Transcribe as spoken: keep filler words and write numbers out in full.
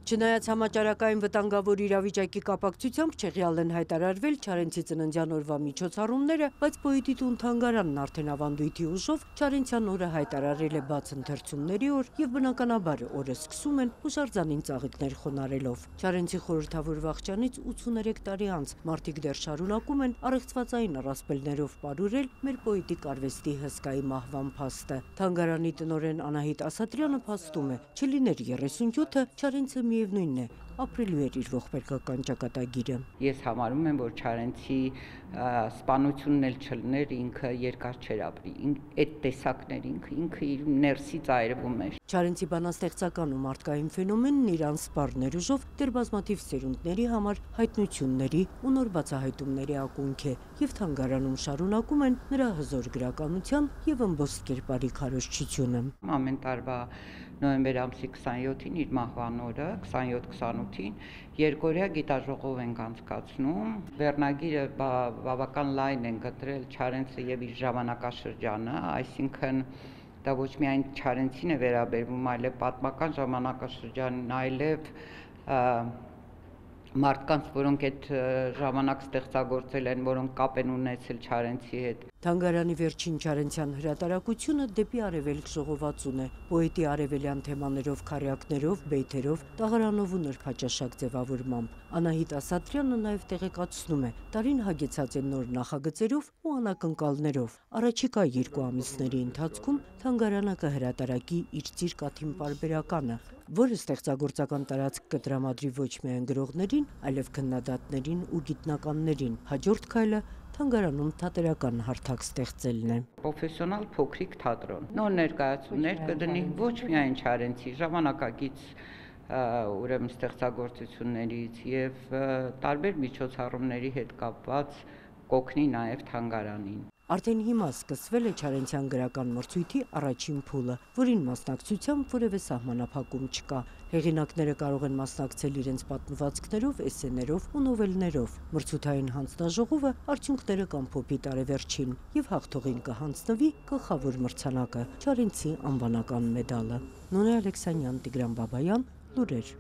Չնայած համաճարակային վտանգավոր իրավիճակի կապակցությամբ չեղյալ են հայտարարվել Չարենցի ծննդյան օրվա միջոցառումները, բայց Պոետի տուն թանգարանն արդեն ավանդույթի ուժով Չարենցյան օրը հայտարարել է բաց ընթերցումների օր եւ բնականաբար օրը սկսում են հուշարձանին ծաղիկներ խոնարելով։ Չարենցի խորհրդավոր վախճանից ութսուներեք տարի անց մարդիկ դեռ շարունակում են առեղծվածային առասպելներով պարուրել մեր պոետիկ արվեստի հսկայի մահվան փաստը։ Թանգարանի տնօրեն Անահիտ Ասատրյանը փաստում է, չլիներ երեսունյոթը, Չարենցը միևնույնն է, ապրելու էր իր ողբերգական ճակատագիրը։ Ես համարում եմ, որ Չարենցի սպանությունն էլ չլներ, ինքը երկար չէր ապրի, այդ տեսակներ ինքը, ինքը իր ներսից այրվում էր։ Չարենցի բանաստեղծական ու մարդկային ֆենոմենն իր անսպառ ներուժով դեռ բազմաթիվ սերունդների համար հայտնությունների ու նոր բացահայտումների ակունք է, եւ թանգարանում շարունակում են նրա հզոր գրականության եւ ըմբոստ կերպարի քարոզչությունը։ Ամեն տարվա նոյեմբեր ամսի քսանյոթին իր մահվան օրը, քսանյոթ քսանութին երկօրյա գիտաժողով ենք անցկացնում։ Վերնագիրը բավական լայն են գտրել Չարենցը եւ իր ժամանակաշրջանը, այսինքն դա ոչ միայն Չարենցին է վերաբերվում, այլև պատմական ժամանակաշրջանին, այլև մարդկանց, որոնք այդ ժամանակ ստեղծագործել են, որոնք կապ են ունեցել Չարենցի հետ։ Թանգարանի վերջին Չարենցյան հրատարակությունը դեպի արևելք ժողովածուն է, պոետի արևելյան թեմաներով, քարյակներով, բեյթերով, տաղարանով ու նրբաճաշակ ձևավորմամբ։ Անահիտ Ասատրյանը նաև տեղեկացնում է, տարին հագեցած է նոր նախագծերով ու անակնկալներով։ Առաջիկա երկու ամիսների ընթացքում թանգարանը կհրատարակի իր Ծիրկաթին պարբերականը, որը ստեղծագործական տարածք կտրամադրի ոչ միայն գրողներին, այլև քննադատներին ու գիտնականներին։ Հաջորդ քայլը թանգարանում թատերական հարթակ ստեղծելն է։ Պրոֆեսիոնալ փոքրիկ թատրոն, նոր ներկայացումներ կդնի ոչ միայն Չարենցի ժամանակակից ուրեմն ստեղծագործություններից եւ տարբեր միջոցառումների հետ կապված կօգնի նաեւ թանգարանին։ Արդեն հիմա սկսվել է Չարենցյան գրական մրցույթի առաջին փուլը, որին մասնակցությամբ որևէ սահմանափակում չկա։ Հեղինակները կարող են մասնակցել իրենց պատմվածքներով, էսսեներով ու նովելներով։ Մրցութային հանձնաժողովը արդյունքները կամփոփի տարեվերջին եւ հաղթողին կհանձնվի գլխավոր մրցանակը՝ Չարենցի անվանական մեդալը։ Նոնե Ալեքսանյան, Տիգրան Բաբայան, լուրեր։